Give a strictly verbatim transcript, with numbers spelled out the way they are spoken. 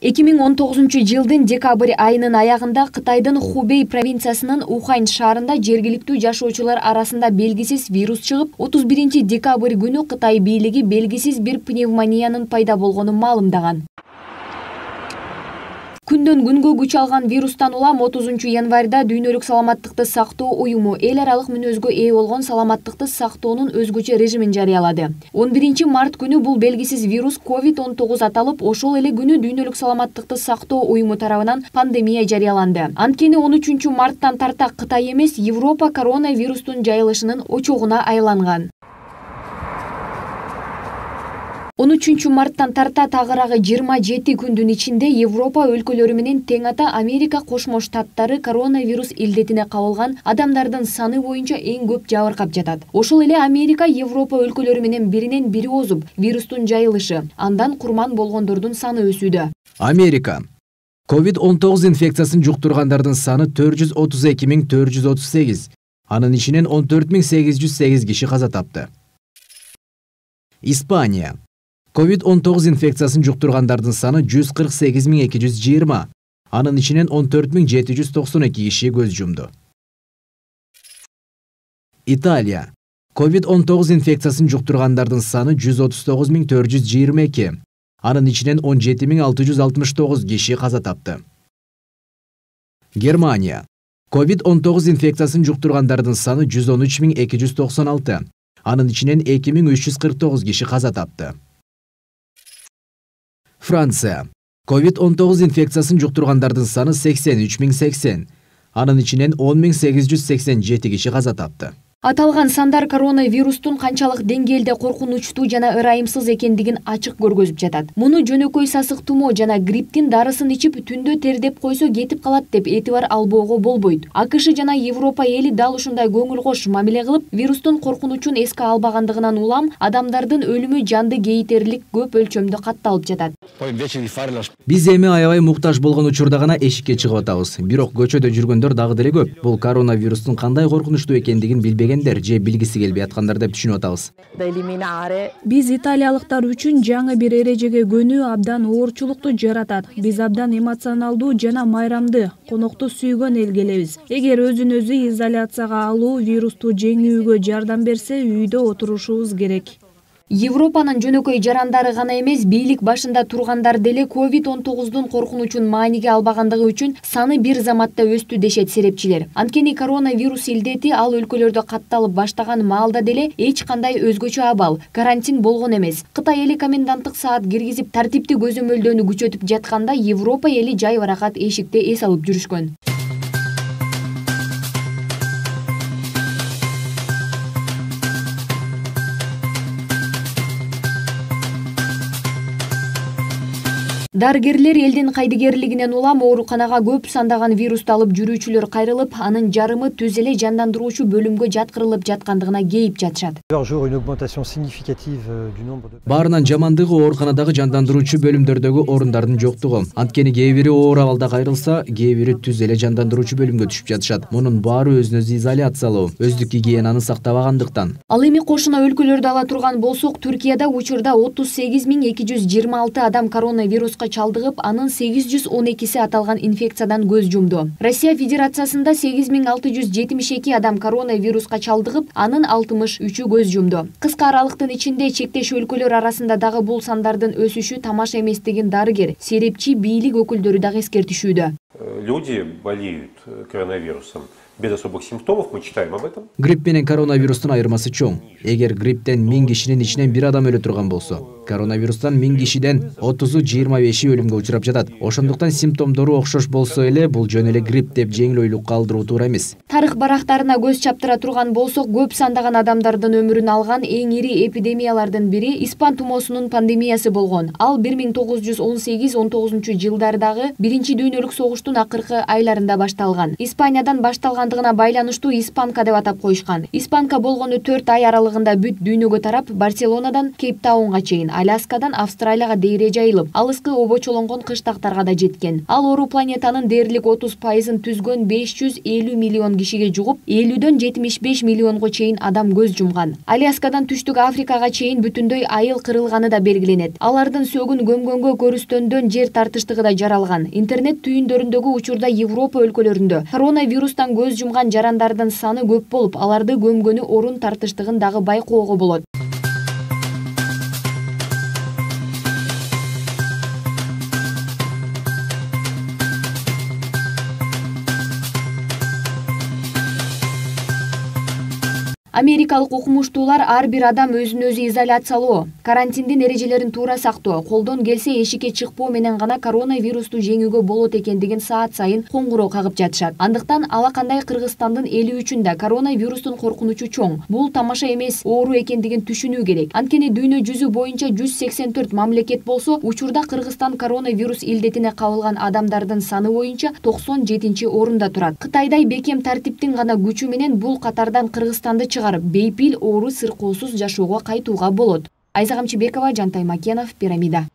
эки миң он тогузунчу жылдын декабрь айынын аягында Кытайдын Хубей провинциясынын Ухань шаарында жергиликтүү жашоочулар арасында белгисиз вирус чыгып, отуз биринчи декабрь күнү Кытай бийлиги белгисиз бир пневмониянын пайда болгонун маалымдаган. Күндөн күнгө күч алган вирустан улам отузунчу январда Дүйнөлүк саламаттыкты сактоо уюму эл аралык мүнөзгө ээ болгон саламаттыкты сактоонун өзгөчө режимин жарыялады. он биринчи март күнү бул белгисиз вирус ковид он тогуз аталып, ошол эле күнү Дүйнөлүк саламаттыкты сактоо уюму тарабынан пандемия жарыяланды. Анткени он үчүнчү марттан тарта Кытай эмес, Европа коронавирустун жайылышынын очогуна айланган. он үчүнчү марттан тарта тагыраагы жыйырма жети күндүн ичинде Европа өлкөлөрү менен тең ата Америка Кошмо Штаттары коронавирус илдетине кабылган адамдардын саны боюнча эң көп жабыркап жатат. Ошол эле Америка Европа өлкөлөрү менен биринен бири озуп, вирустун жайылышы, андан курман болгондордун саны өсүүдө. Америка ковид он тогуз инфекциясын жуктургандардын саны төрт жүз отуз эки миң төрт жүз отуз сегиз, анын ичинен он төрт миң сегиз жүз сегиз киши каза тапты. Испания ковид он тогуз инфекциясын жуктургандардын саны жүз кырк сегиз миң эки жүз жыйырма, анын ичинен он төрт миң жети жүз токсон эки киши көз жумду. Италия ковид он тогуз инфекциясын жуктургандардын саны жүз отуз тогуз миң төрт жүз жыйырма эки, анын ичинен он жети миң алты жүз алтымыш тогуз киши каза тапты. Германия ковид он тогуз инфекциясын жуктургандардын саны жүз он үч миң эки жүз токсон алты, анын ичинен эки миң үч жүз кырк тогуз киши каза тапты. Франция ковид он тогуз инфекциясын жуктургандардын саны сексен үч миң сексен, анын ичинен он миң сегиз жүз сексен жети киши каза тапты. Аталган сандар коронавирустун канчалык деңгээлде коркунучтуу жана ырайымсыз экендигин ачык көргөзүп жатат. Муну жөнөкөй сасык тумоо жана грипптин дарысын ичип түндө тердеп койсо кетип калат деп этибар албоого болбойт. АКШ жана Европа эли дал ушундай көңүл кош мамиле кылып, вирустун коркунучун эске албагандыгынан улам адамдардын өлүмү жанды кейитерлик көп өлчөмдө катталып жатат. Биз эми аябай муктаж болгон учурда гана эшикке чыгып атабыз. Бирок көчөдө жүргөндөр дагы деле көп. Бул коронавирустун кандай коркунучтуу экендигин билбеген же билгиси келбей аткандар деп түшүнүп атабыз. Биз италиялыктар үчүн жаңы бир эрежеге көнүү абдан оорчулукту жаратат. Биз абдан эмоционалдуу жана майрамды, конокту сүйгөн эл келебиз. Эгер өзүн өзү изоляцияга алуу вирусту жеңүүгө жардам берсе, үйдө отурушубуз керек. Европанын жөнөкөй жарандары гана эмес, бийлик башында тургандар деле ковид он тогуздун коркунучун мааниге албагандыгы үчүн саны бир заматта өстү дешет серепчилер. Анткени коронавирус илдети ал өлкөлөрдө катталып баштаган маалда деле эч кандай өзгөчө абал, карантин болгон эмес. Кытай эли коменданттык саат киргизип, тартипти көзөмөлдөөнү күчөтүп жатканда, Европа эли жай баракат эшикте эс алып жүрүшкөн. Дарыгерлер элдин кайдыгерлигинен улам ооруканага көп сандаган вирусту алып жүрүүчүлөр кайрылып, анын жарымы түз эле жандандыруучу бөлүмгө жаткырылып жаткандыгына кейип жатышат. Баарынан жамандыгы ооруканадагы жандандыруучу бөлүмдөрдөгү орундардын жоктугу. Анткени кээ бири оор абалда кайрылса, кээ бири түз эле жандандыруучу бөлүмгө түшүп жатышат. Мунун баары өзүн өзү изоляциялоо, өздүк гигиенаны сактабагандыктан. Ал эми кошуна өлкөлөрдү ала турган болсок, Түркияда учурда отуз сегиз миң эки жүз жыйырма алты адам коронавируска чалдыгып, анын сегиз жүз он экиси аталган инфекциядан көз жумду. Россия Федерациясында сегиз миң алты жүз жетимиш эки адам коронавируска чалдыгып, анын алтымыш үчү көз жумду. Кыска аралыктын ичинде чектеш өлкөлөр арасында дагы бул сандардын өсүшү тамаша эместигин дарыгер, серепчи, бийлик өкүлдөрү дагы эскертишүүдө. Люди болеют коронавирусом без особых симптомов, мы читаем об этом. Грипп менен коронавирустун айырмасы чоң. Эгер грипптен миң кишинин ичинен бир адам өлө турган болсо, коронавирустан миң кишиден отузу жыйырма беши өлүмгө учурап жатат. Ошондуктан симптомдору окшош болсо эле, бул жөн эле грипп деп жеңил ойлукка алдыруу туура эмес. Тарых барактарына көз чаптыра турган болсок, көп сандаган адамдардын өмүрүн алган эң ири эпидемиялардын бири испан тумоосунун пандемиясы болгон. Ал бир миң тогуз жүз он сегиз он тогузунчу жылдардагы биринчи дүйнөлүк согуштун акыркы айларында башталган. Испаниядан башталган жакшыргандыгына байланыштуу испанка деп атап коюшкан. Испанка болгону төрт ай аралыгында бүт дүйнөгө тарап, Барселонадан Кейптаунга чейин, Аляскадан Австралияга дейре жайылып, алыскы обочолонгон кыштактарга да жеткен. Ал оору планетанын дээрлик отуз пайызын түзгөн беш жүз элүү миллион кишиге жугуп, элүүдөн жетимиш беш миллионго чейин адам көз жумган. Аляскадан түштүк Африкага чейин бүтүндөй айыл кырылганы да белгиленет. Алардын сөгүн көмгөнгө көрүстөндөн жер тартыштыгы да жаралган. Интернет түйүндөрүндөгү учурда Европа өлкөлөрүндө коронавирустан көз жумган жарандардын саны көп болуп, аларды көмгөнү орун тартыштыгын дагы байкоого болот. Америкалык окумуштуулар ар бир адам өзүн өзү изоляциялоо, карантиндин эрежелерин туура сактоо, колдон келсе эшикке чыкпоо менен гана коронавирусту жеңүүгө болот экендигин саат сайын коңгуроо кагып жатышат. Андыктан ала кандай Кыргызстандын эли үчүн да коронавирустун коркунучу чоң. Бул тамаша эмес, оору экендигин түшүнүү керек. Анткени дүйнө жүзү боюнча жүз сексен төрт мамлекет болсо, учурда Кыргызстан коронавирус илдетине кабылган адамдардын саны боюнча токсон жетинчи орунда турат. Кытайдай бекем тартиптин гана күчү менен бул катардан Кыргызстанды чыгарып, бейпил оору сыркоосуз жашоого кайтууга болот. Айза Камчыбекова, Жантай Макенов, Пирамида.